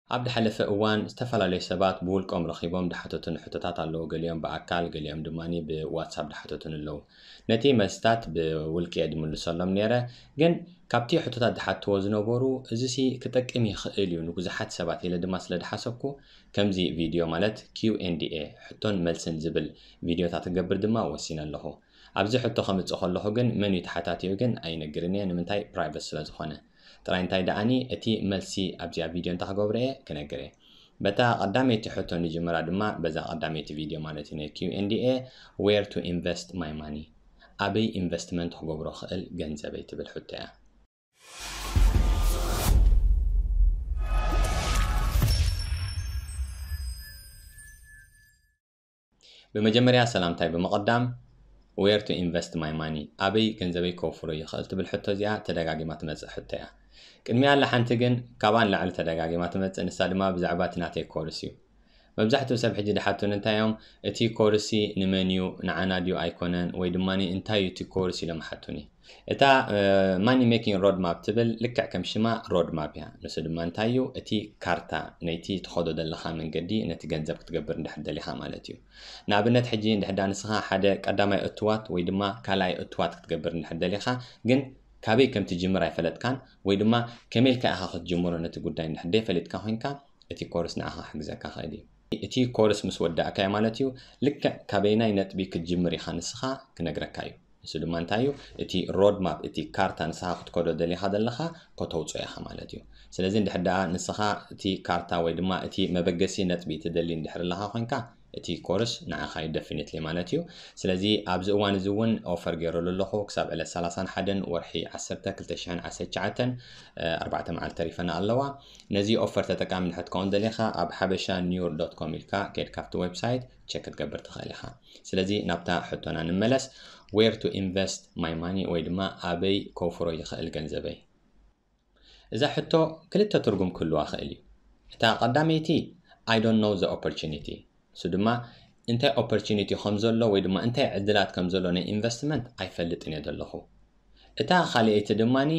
ኣብ ዝሓለፈ እዋን ዝተፈላለዩ ሰባት ብውልቆም ረኺቦም ዝሓተቱኒ ሕቶታት ኣለዉ። ገሊኦም ብኣካል፣ ገሊኦም ድማ ብዋትሳፕ ዝሓተቱኒ ኣለዉ። ነቲ መልስታት ብውልቂ እየ ዝምልሰሎም ነይረ። ግን ካብቲ ሕቶታት ዝሓትዎ ዝነበሩ፣ "እዚሲ ክጠቅም ይኽእል እዩ ንብዙሓት ሰባት" ኢለ ድማ ስለ ዝሓሰብኩ፣ ከምዚ ቪድዮ ማለት ኪው ኤንድ ኤ፣ ሕቶን መልስን ዝብል ቪድዮታት ክገብር ድማ ወሲነ ኣለኹ። ኣብዚ ሕቶ ከምጽእ ከለኹ ግን መን እዩ ተሓታቲኡ ግን ኣይነግርን እየ፣ ንምንታይ? ፕራይቨት ስለ ዝኾነ። ጥራይ እንታይ ደኣኒ እቲ መልሲ ኣብዚኣ ቪድዮ እንታይ ክገብሮ እየ ክነግር እየ። በታ ቀዳመይቲ ሕቶ ንጅምራ ድማ፣ በዛ ቀዳመይቲ ቪድዮ ማለት እዩ፣ ናይ ኪው ኤንድ ኤ፣ "Where to invest my money?" ኣበይ ኢንቨስትመንት ክገብሮ ክእል ገንዘበይ ትብል ሕቶ እያ። ብመጀመርያ ሰላምታይ ብምቕዳም፣ "Where to invest my money?" ኣበይ ገንዘበይ ከውፍሮ ይኽእል ትብል ሕቶ እዚኣ ተደጋጊማ ትመጽእ ሕቶ እያ። ቅድሚያ ኣላ ሓንቲ ግን ካብኣ ንላዕሊ ተደጋጊማ ትመጽእ፣ ንሳ ድማ ብዛዕባ እቲ ናተይ ኮርስ እዩ። መብዛሕትኡ ሰብ ሕጂ ዝሓቱኒ እንታይ እዮም፣ "እቲ ኮርሲ ንመን እዩ? ንዓና ድዩ ኣይኮነን? ወይ ድማ እንታይ እዩ እቲ ኮርስ?" ኢሎም ሓቱኒ። እታ ማኒ ሜኪንግ ሮድ ማፕ ትብል ልክዕ ከም ሽማ ሮድ ማፕ እያ። ንሱ ድማ እንታይ እዩ? እቲ ካርታ፣ ነይቲ ትኸዶ ዘለኻ መንገዲ፣ ነቲ ገንዘብ ክትገብር እንድሕር ደሊኻ ማለት እዩ። ንኣብነት ሕጂ እንድሕር ዳ ንስኻ ሓደ ቀዳማይ እትዋት ወይ ድማ ካልኣይ እትዋት ክትገብር እንድሕር ደሊኻ፣ ግን ካበይ ከም ትጅምር ኣይፈለጥካን ወይ ድማ ከመይ ኢልካ ኢኻ ክትጅምሮ ነቲ ጉዳይ እንድሕር ደይፈሊጥካ ኮይንካ፣ እቲ ኮርስ ንዓኻ ክሕግዘካ ክእል እዩ። እቲ ኮርስ ምስ ወዳእካዮ ማለት እዩ፣ ልክዕ ካበይናይ ነጥቢ ክትጅምር ኢኻ ንስኻ ክነግረካ እዩ። ንሱ ድማ እንታይ እዩ? እቲ ሮድ ማፕ፣ እቲ ካርታ ንስኻ ክትከዶ ደሊኻ ዘለኻ ከተውፅኦ ኢኻ ማለት እዩ። ስለዚ እንድሕር ደኣ ንስኻ እቲ ካርታ ወይ ድማ እቲ መበገሲ ነጥቢ ትደሊ እንድሕር ኣለኻ ኮይንካ፣ እቲ ኮርስ ንዓኻ እዩ ደፊኒትሊ ማለት እዩ። ስለዚ ኣብዚ እዋን እዚ እውን ኦፈር ገይረሉ ኣለኹ። ክሳብ ዕለት ሰላሳን ሓደን ወርሒ ዓሰርተ ክልተ ሽሕን ዓሰርተ ትሽዓተን፣ እ፣ ኣርባዕተ መዓልቲ ተሪፈና ኣለዋ። ነዚ ኦፈር ተጠቃሚ እንድሕር ትኸውን ደሊኻ፣ ኣብ ሓበሻ ኒውር ዶት ኮም ኢልካ ከይድካ ኣብቲ ዌብሳይት ቸክ ክትገብር ትኽእል ኢኻ። ስለዚ ናብታ ሕቶና ንመለስ። "Where to invest my money?" ወይ ድማ ኣበይ ከውፍሮ ይኽእል ገንዘበይ? እዛ ሕቶ ክልተ ትርጉም ክህልዋ ክእል እዩ። እታ ቀዳመይቲ፣ "I don't know the opportunity." እሱ ድማ እንታይ ኦፖርቹኒቲ ከም ዘሎ ወይ ድማ እንታይ ዕድላት ከም ዘሎ ናይ ኢንቨስትመንት ኣይፈልጥን እየ ዘለኹ። እታ ካልኣይቲ ድማኒ፣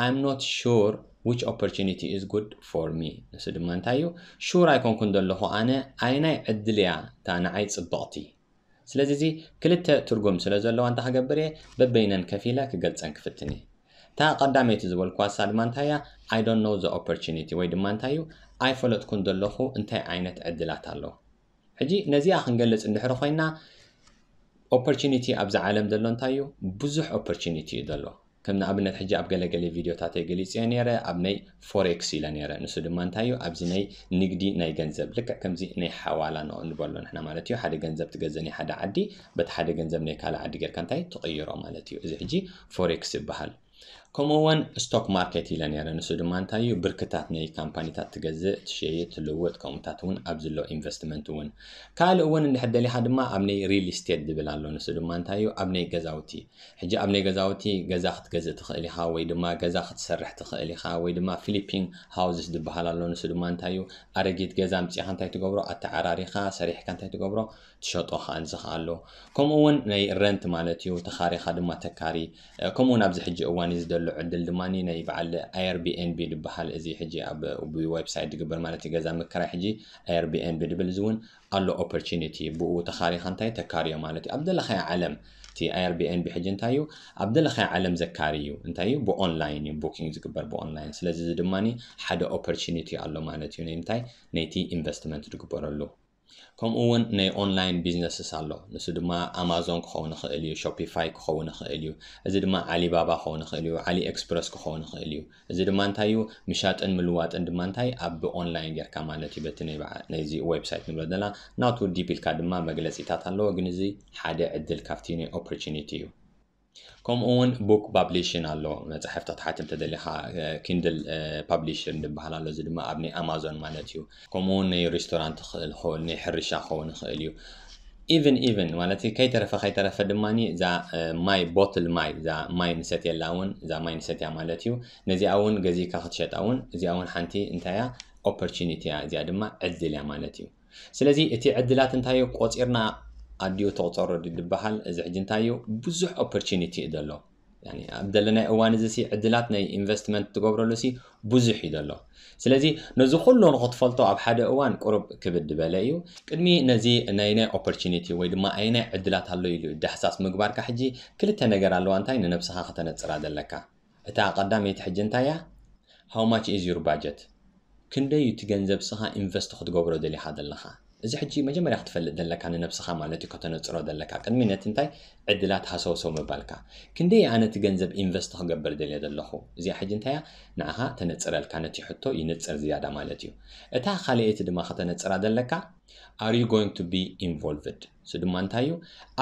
"I'm not sure which opportunity is good for me." ንሱ ድማ እንታይ እዩ? ሹር ኣይኮንኩን ዘለኹ ኣነ ኣይናይ ዕድል እያ እታ ንዓይ ጽብቕቲ። ስለዚ እዚ ክልተ ትርጉም ስለ ዘለዋ እንታይ ክገብር እየ? በበይነን ከፊለ ክገልጸን ክፍትን እየ። እታ ቀዳመይቲ ዝበልኩዋ እሳ ድማ እንታይ እያ? "I don't know the opportunity" ወይ ድማ እንታይ እዩ? ኣይፈለጥኩን ዘለኹ እንታይ ዓይነት ዕድላት ኣሎ። ሕጂ ነዚኣ ክንገልጽ እንድሕር ኮይና፣ ኦፖርቹኒቲ ኣብዚ ዓለም ዘሎ እንታይ እዩ? ብዙሕ ኦፖርቹኒቲ እዩ ዘሎ። ከም ንኣብነት ሕጂ ኣብ ገለገለ ቪድዮታተይ ገሊጸዮ ነይረ፣ ኣብ ናይ ፎሬክስ ኢለ ነይረ። ንሱ ድማ እንታይ እዩ? ኣብዚ ናይ ንግዲ ናይ ገንዘብ፣ ልክዕ ከምዚ ናይ ሓዋላ ንበሎ ንሕና ማለት እዩ። ሓደ ገንዘብ ትገዝእ ናይ ሓደ ዓዲ፣ በቲ ሓደ ገንዘብ ናይ ካልእ ዓዲ ጌርካ እንታይ ትቕይሮ ማለት እዩ። እዚ ሕጂ ፎሬክስ ይበሃል። ከምኡ እውን ስቶክ ማርኬት ኢለ ነይረ። ንሱ ድማ እንታይ እዩ? ብርክታት ናይ ካምፓኒታት ትገዝእ፣ ትሸይጥ፣ ትልውጥ፣ ከምኡታት እውን ኣብ ዝሎ ኢንቨስትመንት እውን። ካልእ እውን እንድሕር ደሊኻ ድማ ኣብ ናይ ሪል ስቴት ዝብል ኣሎ። ንሱ ድማ እንታይ እዩ? ኣብ ናይ ገዛውቲ። ሕጂ ኣብ ናይ ገዛውቲ ገዛ ክትገዝእ ትኽእል ኢኻ፣ ወይ ድማ ገዛ ክትሰርሕ ትኽእል ኢኻ፣ ወይ ድማ ፍሊፒንግ ሃውስስ ዝበሃል ኣሎ። ንሱ ድማ እንታይ እዩ? ኣረጊት ገዛ ኣምጺእኻ እንታይ ትገብሮ? ኣተዓራሪኻ፣ ሰሪሕካ እንታይ ትገብሮ? ትሸጦ ከኣ ዝኸኣሎ። ከምኡ እውን ናይ ረንት ማለት እዩ። ተኻሪኻ ድማ ተካሪ። እ፣ ከምኡ እውን ኣብዚ ሕጂ እዋን እዚ ዘሎ ዕድል ድማ ናይ በዓል ኤርቢኤንቢ ዝበሃል፣ እዚ ሕጂ ኣብ፣ ብዌብሳይት ዝግበር ማለት እዩ፣ ገዛ ምክራይ ሕጂ ኤርቢኤንቢ ዝብል፣ እዚ እውን ኣሎ ኦፖርቹኒቲ። ብኡ ተኻሪኻ እንታይ ተካርዮ ማለት እዩ። ኣብ ዘለኻዮ ዓለም፣ እቲ ኤርቢኤንቢ ሕጂ እንታይ እዩ? ኣብ ዘለኻዮ ዓለም ዘካሪ እዩ። እንታይ እዩ? ብኦንላይን እዩ፣ ቡኪንግ ዝግበር ብኦንላይን። ስለዚ እዚ ድማ ሓደ ኦፖርቹኒቲ ኣሎ ማለት እዩ። ናይ ምንታይ? ነይቲ ኢንቨስትመንት ዝግበረሉ። ከምኡ እውን ናይ ኦንላይን ቢዝነስስ ኣሎ። ንሱ ድማ ኣማዞን ክኸውን ይኽእል እዩ፣ ሾፒፋይ ክኸውን ይኽእል እዩ። እዚ ድማ ዓሊባባ ክኸውን ይኽእል እዩ፣ ዓሊ ኤክስፕረስ ክኸውን ይኽእል እዩ። እዚ ድማ እንታይ እዩ? ምሻጥን ምልዋጥን ድማ እንታይ? ኣብ ኦንላይን ጌርካ ማለት እዩ። በቲ ናይ በዓ-፣ ናይዚ ዌብሳይት ንብሎ ዘለና ናቱ ዲፕ ኢልካ ድማ መግለጺታት ኣለዎ፣ ግን እዚ ሓደ ዕድል ካብቲ ናይ ኦፖርቹኒቲ እዩ። ከምኡ እውን ቡክ ፓብሊሽን ኣሎ፣ መጻሕፍቲ ክትሓትም ተደሊኻ፣ እ፣ ኪንድል፣ እ፣ ፓብሊሽን ዝበሃል ኣሎ። እዚ ድማ ኣብ ናይ ኣማዞን ማለት እዩ። ከምኡ እውን ናይ ሬስቶራንት ክእል፣ ክእል፣ ናይ ሕርሻ ክኸውን ይኽእል እዩ። ኢቭን፣ ኢቭን ማለት እዩ፣ ከይተረፈ፣ ከይተረፈ ድማ እዛ፣ እ፣ ማይ፣ ቦትል ማይ፣ እዛ ማይ ንሰትየላ እውን፣ እዛ ማይ ንሰትያ ማለት እዩ። ነዚኣ እውን ገዚእካ ክትሸጣ እውን፣ እዚኣ እውን ሓንቲ እንታይ እያ? ኦፖርቹኒቲ እያ። እዚኣ ድማ ዕድል እያ ማለት እዩ። ስለዚ እቲ ዕድላት እንታይ እዩ? ቆጺርና ኣዲኡ ተቑጸሮ ድዩ ዝበሃል? እዚ ሕጂ እንታይ እዩ? ብዙሕ ኦፖርቹኒቲ እዩ ዘሎ። ኣብ ዘለናይ እዋን እዚ ሲ ዕድላት ናይ ኢንቨስትመንት ትገብረሉ ሲ ብዙሕ እዩ ዘሎ። ስለዚ ነዚ ኩሉ ንክትፈልጦ ኣብ ሓደ እዋን ቁሩብ ክብድ በለ እዩ። ቅድሚ ነዚ ናይ ናይ ኦፖርቹኒቲ ወይ ድማ ኣይ ናይ ዕድላት ኣሎ ኢሉ ዳሕሳስ ምግባርካ ሕጂ ክልተ ነገር ኣለዋ እንታይ ንነብስኻ ከተነፅራ ዘለካ። እታ ቀዳመይቲ ሕጂ እንታይ እያ? How much is your budget? ክንደይ እቲ ገንዘብ ስኻ ኢንቨስት ክትገብሮ ደሊኻ ዘለኻ? እዚ ሕጂ መጀመርያ ክትፈልጥ ዘለካ ንነብስኻ ማለት እዩ ከተነፅሮ ዘለካ ቅድሚ ነቲ እንታይ ዕድላት ሃሰውሰው ምባልካ። ክንደይ ኣነ እቲ ገንዘብ ኢንቨስት ክገብር ደልየ ዘለኹ? እዚኣ ሕጂ እንታይ እያ ንዓኻ ተነፅረልካ ነቲ ሕቶ ይንፅር ዝያዳ ማለት እዩ። እታ ካልኣይቲ ድማ ከተነፅራ ዘለካ are you going to be involved? እሱ ድማ እንታይ እዩ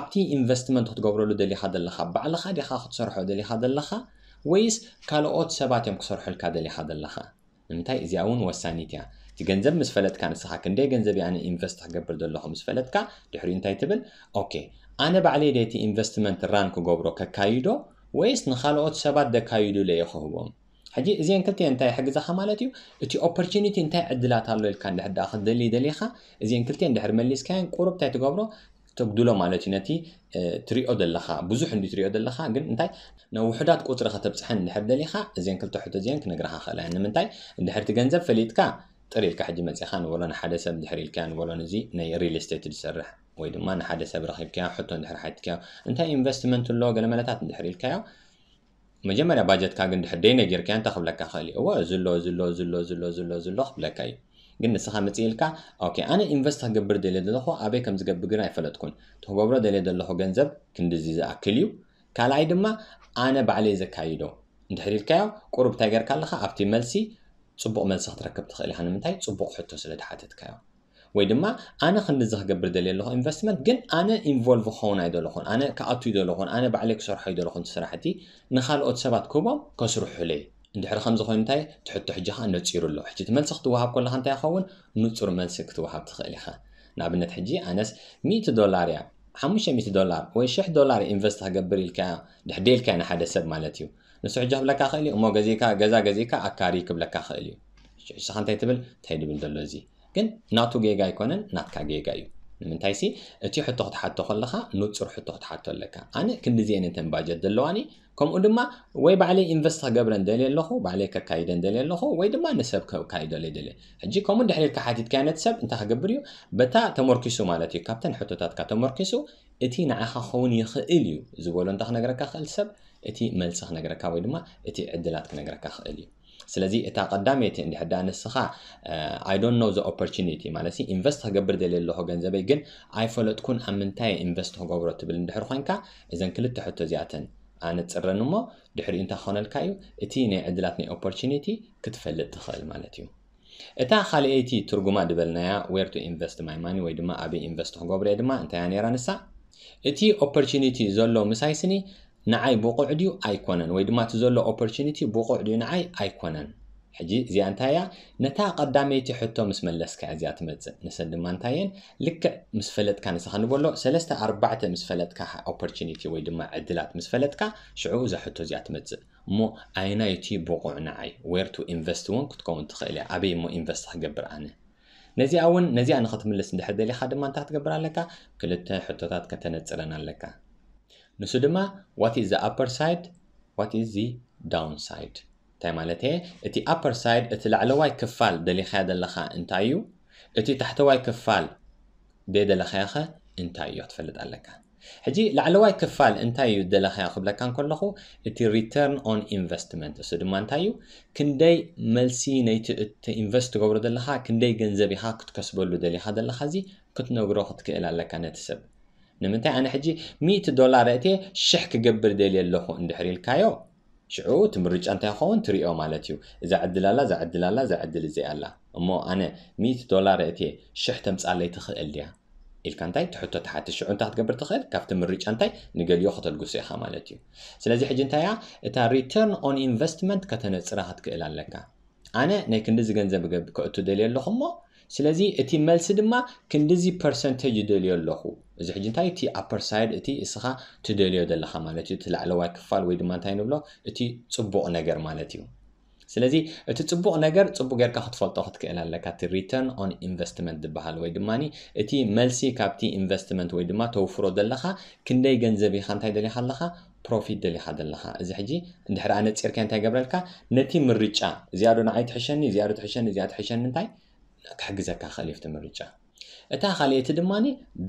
ኣብቲ ኢንቨስትመንት ክትገብረሉ ደሊኻ ዘለኻ ባዕልኻ ዲኻ ክትሰርሖ ደሊኻ ዘለኻ ወይስ ካልኦት ሰባት እዮም ክሰርሑልካ ደሊኻ ዘለኻ? ንምንታይ እዚኣ እውን ወሳኒት እያ። እቲ ገንዘብ ምስ ፈለጥካ ንስኻ ክንደይ ገንዘብ እየ ኣነ ኢንቨስት ክገብር ዘለኹ ምስ ፈለጥካ ድሕሪኡ እንታይ ትብል? ኦኬ ኣነ ባዕለይ ደ እቲ ኢንቨስትመንት ራን ክገብሮ ከካይዶ ወይስ ንኻልኦት ሰባት ደካይዱለ እየ ክህቦም? ሕጂ እዚአን ክልቲአን እንታይ ይሕግዛኻ ማለት እዩ? እቲ ኦፖርቹኒቲ እንታይ ዕድላት ኣሎ ኢልካ እንድሕር ደኣ ክትደሊ ደሊኻ እዚአን ክልቲአን እንድሕር መሊስካየን ቁሩብ እንታይ ትገብሮ? ተጉድሎ ማለት እዩ ነቲ ትሪኦ ዘለኻ ብዙሕ እንዲ ትሪኦ ዘለኻ ግን እንታይ ናብ ውሕዳት ቁፅሪ ከተብፅሐን እንድሕር ደሊኻ እዚአን ክልተ ሕቶ እዚአን ክነግረኻ ክእላ እየን ንምንታይ እንድሕር እቲ ገንዘብ ፈሊጥካ ጥር ኢልካ ሕጂ መፂኻ ንበሎ ንሓደ ሰብ እንድሕር ኢልካ ንበሎ ነዚ ናይ ሪል ስቴት ዝሰርሕ ወይ ድማ ንሓደ ሰብ ረኺብካዮ ሕቶ እንድሕር ሓትካዮ እንታይ ኢንቨስትመንት ኣሎ ገለ መለታት እንድሕር ኢልካዮ መጀመርያ ባጀትካ ግን ድሕር ደይ ነጊርካዮ እንታይ ክብለካ ክእል እዩ እወ ዝሎ ዝሎ ዝሎ ዝሎ ዝሎ ዝሎ ክብለካ እዩ ግን ንስኻ ምጽእ ኢልካ ኦኬ ኣነ ኢንቨስት ክገብር ደልየ ዘለኹ ኣበይ ከም ዝገብር ግን ኣይፈለጥኩን እቲ ክገብሮ ደልየ ዘለኹ ገንዘብ ክንድዚ ዝኣክል እዩ ካልኣይ ድማ ኣነ ባዕለይ ዘካይዶ እንድሕር ኢልካዮ ቁሩብ እንታይ ገርካ ኣለኻ ኣብቲ መልሲ ጽቡቕ መልሲ ክትረክብ ትኽእል ኢኻ ንምንታይ ጽቡቕ ሕቶ ስለ ዝሓተትካዮ ወይ ድማ ኣነ ክንድዚ ክገብር ደልየ ኣለኹ ኢንቨስትመንት ግን ኣነ ኢንቮልቭ ክኸውን ኣይደለኹን ኣነ ክኣቱ ይደለኹን ኣነ ባዕለይ ክሰርሖ ይደለኹን ስራሕቲ ንኻልኦት ሰባት ክህቦም ከስርሑለይ እንድሕር ከምዚ ኮይኑ እንታይ ትሕቶ ሕጂ ከዓ ነፂሩ ኣሎ ሕጂ እቲ መልሲ ክትወሃብ ከለካ እንታይ ይኸውን ንፁር መልሲ ክትወሃብ ትኽእል ኢኻ ንኣብነት ሕጂ ኣነስ ሚእቲ ዶላር እያ ሓሙሽተ ሚእቲ ዶላር ወይ ሽሕ ዶላር ኢንቨስት ክገብር ኢልካ ድሕደ ኢልካ ንሓደ ሰብ ማለት እዩ ንሱ ሕጂ ክብለካ ክእል እዩ እሞ ገዚእካ ገዛ ገዚእካ ኣካሪ ክብለካ ክእል እዩ ንስኻ እንታይ ትብል እንታይ ድብል ዘሎ እዚ ግን ናቱ ጌጋ ኣይኮነን ናትካ ጌጋ እዩ ንምንታይሲ እቲ ሕቶ ክትሓቶ ከለኻ ንፁር ሕቶ ክትሓቶ ኣለካ ኣነ ክንድዚአን እንተን ባጀት ዘለዋኒ ከምኡ ድማ ወይ ባዕለይ ኢንቨስት ክገብረን ደልየ ኣለኹ ባዕለይ ከካይደን ደልየ ኣለኹ ወይ ድማ ንሰብ ከካይደለይ ደልየ ሕጂ ከምኡ እንድሕር ኢልካ ሓቲትካዮ ነቲ ሰብ እንታይ ክገብር እዩ በታ ተመርኪሱ ማለት እዩ ካብተን ሕቶታትካ ተመርኪሱ እቲ ንዓኻ ክኸውን ይኽእል እዩ ዝበሎ እንታይ ክነግረካ ክእል ሰብ እቲ መልሲ ክነግረካ ወይ ድማ እቲ ዕድላት ክነግረካ ክእል እዩ ስለዚ እታ ቀዳመይቲ እንድሕር ደኣ ንስኻ I don't know the opportunity ማለት ኢንቨስት ክገብር ደልየ ኣለኹ ገንዘበይ ግን ኣይፈለጥኩን ኣብ ምንታይ ኢንቨስት ክገብሮ ትብል እንድሕር ኮይንካ እዘን ክልተ ሕቶ እዚኣተን ኣነፅረን እሞ ድሕሪኡ እንታይ ክኾነልካ እዩ እቲ ናይ ዕድላት ናይ ኦፖርቹኒቲ ክትፈልጥ ትኽእል ማለት እዩ እታ ካልኣይቲ ትርጉማ ዝበልናያ where to invest my money ወይ ድማ ኣበይ ኢንቨስት ክገብሮ እየ ድማ እንታይ እያ ነይራ ንሳ እቲ ኦፖርቹኒቲ ዘሎ ምሳይ ስኒ ንዓይ ብቑዕ ድዩ ኣይኮነን ወይ ድማ እቲ ዘሎ ኦፖርቹኒቲ ብቑዕ ድዩ ንዓይ ኣይኮነን ሕጂ እዚኣ እንታይ እያ ነታ ቀዳመይቲ ሕቶ ምስ መለስካ እዚኣ ትመፅእ ንሰን ድማ እንታይ እየን ልክዕ ምስ ፈለጥካ ንስኻ ንበሎ ሰለስተ ኣርባዕተ ምስ ፈለጥካ ኦፖርቹኒቲ ወይ ድማ ዕድላት ምስ ፈለጥካ ሽዑ እዛ ሕቶ እዚኣ ትመፅእ እሞ ኣየናይ እቲ ብቑዕ ንዓይ where to invest እውን ክትከውን ትኽእል እያ ኣበይ እሞ ኢንቨስት ክገብር ኣነ ነዚኣ እውን ነዚኣ ንኽትምልስ እንድሕር ደሊኻ ድማ እንታይ ክትገብር ኣለካ ክልተ ሕቶታት ከተነፅረን ኣለካ ንሱ ድማ what is the upper side what is the down side እንታይ ማለት እየ እቲ upper side እቲ ላዕለዋይ ክፋል ደሊኻያ ዘለኻ እንታይ እዩ እቲ ታሕተዋይ ክፋል ደደለኻያኸ እንታይ እዩ ክትፈልጥ ኣለካ ሕጂ ላዕለዋይ ክፋል እንታይ እዩ ደለኻዮ ክብለካ እንከለኹ እቲ return on investment እሱ ድማ እንታይ እዩ ክንደይ መልሲ ነይቲ ኢንቨስት ትገብሮ ዘለኻ ክንደይ ገንዘብ ኢኻ ክትከስበሉ ደሊኻ ዘለኻ እዚ ክትነግሮ ክትክእል ኣለካ ነቲ ሰብ ንምንታይ ኣነ ሕጂ ሚእቲ ዶላር እትየ ሽሕ ክገብር ደልየ ኣለኹ እንድሕር ኢልካዮ ሽዑ እቲ ምርጫ እንታይ ይኸውን ትሪኦ ማለት እዩ እዛ ዕድል ኣላ እዛ ዕድል ኣላ እዛ ዕድል እዚኣ ኣላ እሞ ኣነ ሚእቲ ዶላር እትየ ሽሕ ተምፃለይ ትኽእል ድያ ኢልካ እንታይ ትሕቶ ትሓትት ሽዑ እንታይ ክትገብር ትኽእል ካብቲ ምርጫ እንታይ ንገሊኦ ከተልግሶ ኢኻ ማለት እዩ ስለዚ ሕጂ እንታይ እያ እታ return on investment ከተነፅራ ክትክእል ኣለካ ኣነ ናይ ክንድዚ ገንዘብ ከእቱ ደልየ ኣለኹ እሞ ስለዚ እቲ መልሲ ድማ ክንድዚ ፐርሰንቴጅ ይደልዮ ኣለኹ እዚ ሕጂ እንታይ እቲ upper side እቲ እስኻ ትደልዮ ዘለኻ ማለት እዩ እቲ ላዕለዋይ ክፋል ወይ ድማ እንታይ ንብሎ እቲ ፅቡቕ ነገር ማለት እዩ ስለዚ እቲ ፅቡቕ ነገር ፅቡቅ ጌርካ ክትፈልጦ ክትክእል ኣለካ እቲ return on investment ዝበሃል ወይ ድማ እቲ መልሲ ካብቲ ኢንቨስትመንት ወይ ድማ ተውፍሮ ዘለኻ ክንደይ ገንዘብ ኢኻ እንታይ ደሊኻ ኣለኻ ፕሮፊት ደሊኻ ዘለኻ። እዚ ሕጂ እንድሕር ኣነጺርካ እንታይ ገብረልካ? ነቲ ምርጫ እዚኣ ዶ ንዓይ ትሕሸኒ፣ እዚኣ ዶ ትሕሸኒ፣ እዚኣ ትሕሸኒ እንታይ ክሕግዘካ ክእል እዩ እቲ ምርጫ። እታ ካልኣይቲ ድማ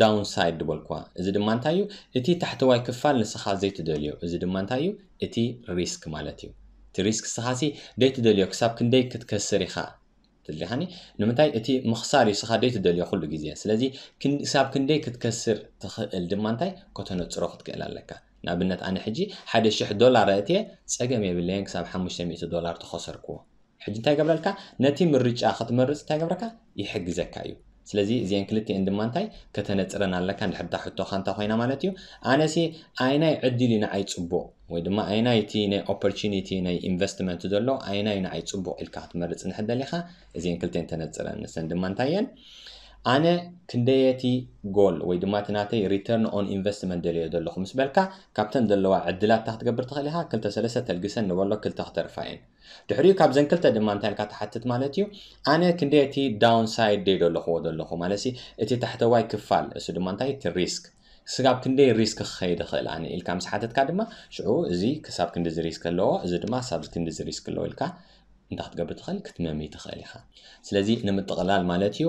ዳውንሳይድ ዝበልኩዋ። እዚ ድማ እንታይ እዩ? እቲ ታሕተዋይ ክፋል ንስኻ ዘይትደልዮ። እዚ ድማ እንታይ እዩ? እቲ ሪስክ ማለት እዩ። እቲ ሪስክ ንስኻሲ ዘይትደልዮ ክሳብ ክንደይ ክትከስር ኢኻ ትደሊኻኒ? ንምንታይ እቲ ምኽሳር እዩ ንስኻ ዘይትደልዮ ኩሉ ግዜ። ስለዚ ክሳብ ክንደይ ክትከስር ትኽእል ድማ እንታይ ከተነጽሮ ክትክእል ኣለካ። ንኣብነት ኣነ ሕጂ ሓደ ሽሕ ዶላር ኣእትየ ጸገም የብለየን ክሳብ ሓሙሽተ ሚእቲ ዶላር ተኸሰርክዎ። ሕጂ እንታይ ገብረልካ? ነቲ ምርጫ ክትመርጽ እንታይ ገብረካ? ይሕግዘካ እዩ። ስለዚ እዚአን ክልቲአን ድማ እንታይ ከተነጽረን ኣለካ? እንድሕር እታ ሕቶኻ እንታይ ኮይና ማለት እዩ? ኣነሲ ኣይናይ ዕድል እዩ ንዓይ ጽቡቕ ወይ ድማ ኣይናይ እቲ ናይ ኦፖርቹኒቲ ናይ ኢንቨስትመንት ዘሎ ኣይናይ ንዓይ ጽቡቕ ኢልካ ክትመርጽ እንድሕር ደሊኻ እዚአን ክልቲአን ተነጽረን። ንሰን ድማ እንታይ እየን? ኣነ ክንደየቲ ጎል ወይ ድማ እቲ ናተይ return on investment ደልዮ ዘለኹ ምስ በልካ ካብተን ዘለዋ ዕድላት እንታይ ክትገብር ትኽእል ኢኻ? ክልተ ሰለስተ ተልግሰን ንበሎ ክልተ ክተርፋ እየን። ድሕሪኡ ካብዘን ክልተ ድማ እንታይ ኢልካ ትሓትት ማለት እዩ? ኣነ ክንደየቲ ዳውንሳይድ ደይ ደለኹዎ ዘለኹ ማለት እቲ ታሕተዋይ ክፋል እሱ ድማ እንታይ እቲ ሪስክ ስጋብ ክንደይ ሪስክ ክኸይድ ይኽእል ኣነ ኢልካ ምስ ሓተትካ ድማ ሽዑ እዚ ክሳብ ክንድዚ ሪስክ ኣለዎ እዚ ድማ ሳብ ክንድዚ ሪስክ ኣለዎ ኢልካ እንታይ ክትገብር ትኽእል ክትመሚ ትኽእል ኢኻ። ስለዚ ንምጥቕላል ማለት እዩ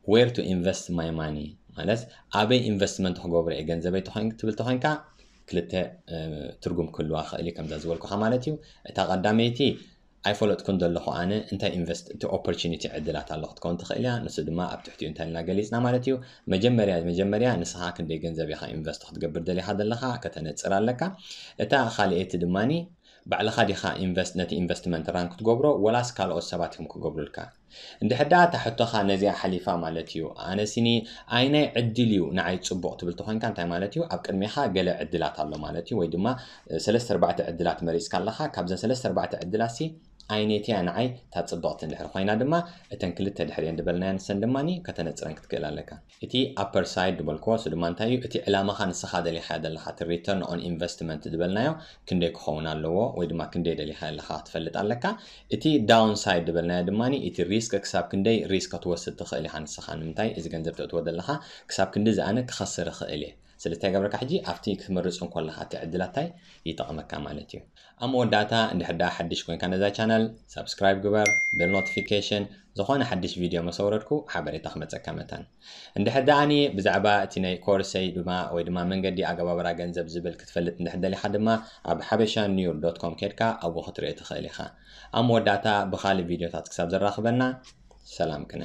where to invest my money ማለት ኣበይ ኢንቨስትመንት ክገብሮ እየ ገንዘበይ ትብል ተኾይንካ ክልተ ትርጉም ክህልዋ ክእል እዩ ከምዛ ዝበልኩኻ ማለት እዩ። እታ ቀዳመይቲ ኣይፈለጥኩን ዘለኹ ኣነ እንታይ ኢንቨስት እቲ ኦፖርቹኒቲ ዕድላት ኣሎ ክትከውን ትኽእል እያ። ንሱ ድማ ኣብ ትሕቲኡ እንታይ ኢልና ገሊፅና ማለት እዩ። መጀመርያ መጀመርያ ንስኻ ክንደይ ገንዘብ ኢኻ ኢንቨስት ክትገብር ደሊኻ ዘለኻ ከተነፅር ኣለካ። እታ ካልኣይቲ ድማኒ ባዕልኻ ዲኻ ኢንቨስት ነቲ ኢንቨስትመንት ራን ክትገብሮ ወላስ ካልኦት ሰባት እዮም ክገብሩልካ? እንድሕር ደኣ እታ ሕቶኻ ነዚኣ ሓሊፋ ማለት እዩ ኣነ ሲኒ ኣይናይ ዕድል እዩ ንዓይ ፅቡቕ ትብል ተኾንካ እንታይ ማለት እዩ ኣብ ቅድሜኻ ገለ ዕድላት ኣሎ ማለት እዩ ወይ ድማ ሰለስተ ኣርባዕተ ዕድላት መሪፅካ ኣለኻ ካብዘን ሰለስተ ኣርባዕተ ዕድላት ሲ ኣይነትያ ንዓይ እታ ፅብቕቲ እንድሕር ኮይና ድማ እተን ክልተ ድሕሪአን ዝበልናያ ንሰን ድማ ከተነፅረን ክትክእል ኣለካ። እቲ ኣፐር ሳይድ ዝበልክዎ እሱ ድማ እንታይ እዩ እቲ ዕላማኻ ንስኻ ደሊኻዮ ዘለኻ እቲ return on investment ዝበልናዮ ክንደይ ክኸውን ኣለዎ ወይ ድማ ክንደይ ደሊኻ ኣለኻ ክትፈልጥ ኣለካ። እቲ ዳውን ሳይድ ዝበልናዮ ድማ እቲ ሪስክ ክሳብ ክንደይ ሪስክ ክትወስድ ትኽእል ኢኻ ንስኻ ንምንታይ እዚ ገንዘብ ተእትዎ ዘለኻ ክሳብ ክንዲ ዝኣነ ክኸስር ይኽእል እየ ስለዚ እንታይ ገብረካ ሕጂ ኣብቲ ክትመርፅ እንኮለኻ እቲ ዕድላታይ ይጠቕመካ ማለት እዩ። ኣብ መወዳእታ እንድሕር ደኣ ሓድሽ ኮይንካ ነዛ ቻነል ሳብስክራይብ ግበር፣ ቤል ኖቲፊኬሽን ዝኾነ ሓድሽ ቪድዮ መሰውረድኩ ሓበሬታ ክመፀካ መታን። እንድሕር ደኣኒ ብዛዕባ እቲ ናይ ኮርሰይ ድማ ወይ ድማ መንገዲ ኣገባብራ ገንዘብ ዝብል ክትፈልጥ እንድሕር ደሊኻ ድማ ኣብ ሓበሻ ኒውር ዶት ኮም ኬድካ ኣብኡ ክትርኢ ትኽእል ኢኻ። ኣብ መወዳእታ ብኻልእ ቪድዮታት ክሳብ ዘራኽበና ሰላም ቅነ።